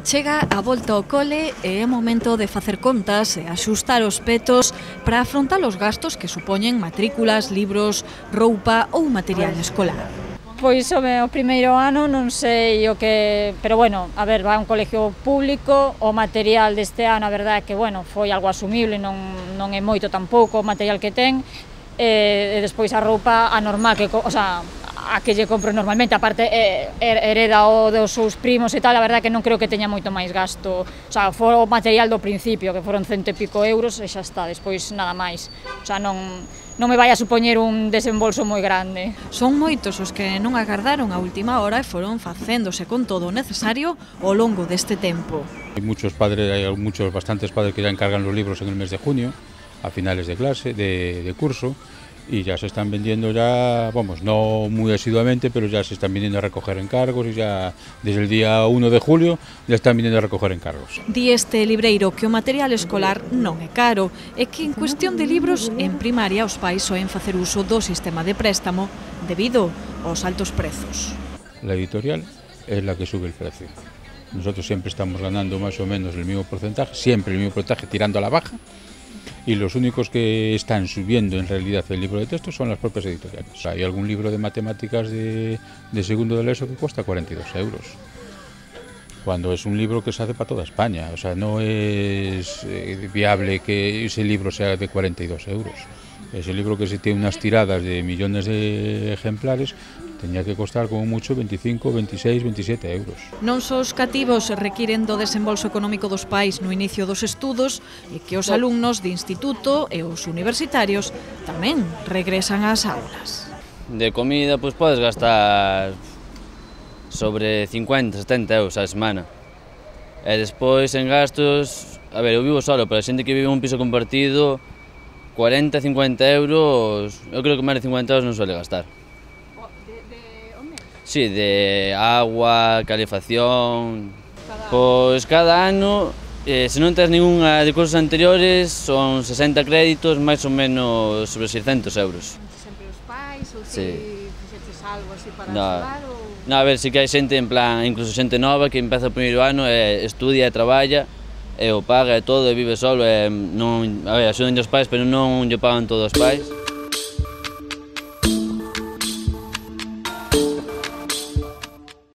Chega a volta ao cole e é momento de facer contas e axustar os petos para afrontar os gastos que supoñen matrículas, libros, roupa ou material escolar. Pois o primeiro ano non sei o que... Pero bueno, a ver, vai a un colegio público, o material deste ano, a verdade é que, bueno, foi algo asumible, non é moito tampouco o material que ten, e despois a roupa anormal, o sea, a que lle compro normalmente, aparte hereda o dos seus primos e tal, a verdade é que non creo que teña moito máis gasto, o sea, foi o material do principio, que foron 100 e pico euros e xa está, despois nada máis, o sea, non me vai a supoñer un desembolso moi grande. Son moitos os que non agardaron a última hora e foron facéndose con todo o necesario ao longo deste tempo. Hay bastantes padres que ya encargan los libros en el mes de junio, a finales de clase, de curso, y ya se están vendiendo vamos, no muy asiduamente, pero ya se están viniendo a recoger encargos y ya desde el día 1 de julio ya están viniendo a recoger encargos. Di este libreiro que o material escolar non é caro e que en cuestión de libros en primaria os pais soen facer uso do sistema de préstamo debido aos altos prezos. La editorial es la que sube el precio. Nosotros siempre estamos ganando más o menos el mismo porcentaje, siempre el mismo porcentaje tirando a la baja. Y los únicos que están subiendo en realidad el libro de texto son las propias editoriales. Hay algún libro de matemáticas de segundo de la ESO que cuesta 42 euros, cuando es un libro que se hace para toda España. O sea, no es viable que ese libro sea de 42 euros. Ese libro, que se tiene unas tiradas de millones de ejemplares, tenía que costar como mucho 25, 26, 27 euros. Non só os cativos requiren do desembolso económico dos pais no inicio dos estudos e que os alumnos de instituto e os universitarios tamén regresan ás aulas. De comida, pois podes gastar sobre 50, 70 euros a semana. E despois en gastos, a ver, eu vivo solo, pero a xente que vive en un piso compartido, 40, 50 euros, eu creo que máis de 50 euros non suele gastar. Sí, de agua, calefacción... Pois cada ano, se non tens ninguna de cursos anteriores, son 60 créditos, máis ou menos sobre 600 euros. Sempre os pais, ou ti fixeches algo así para axudar? Non, a ver, si que hai xente en plan, incluso xente nova que empeza o primeiro ano e estudia e traballa, e o paga e todo, e vive solo, e non, a ver, axudan os pais, pero non lle pagan todos os pais.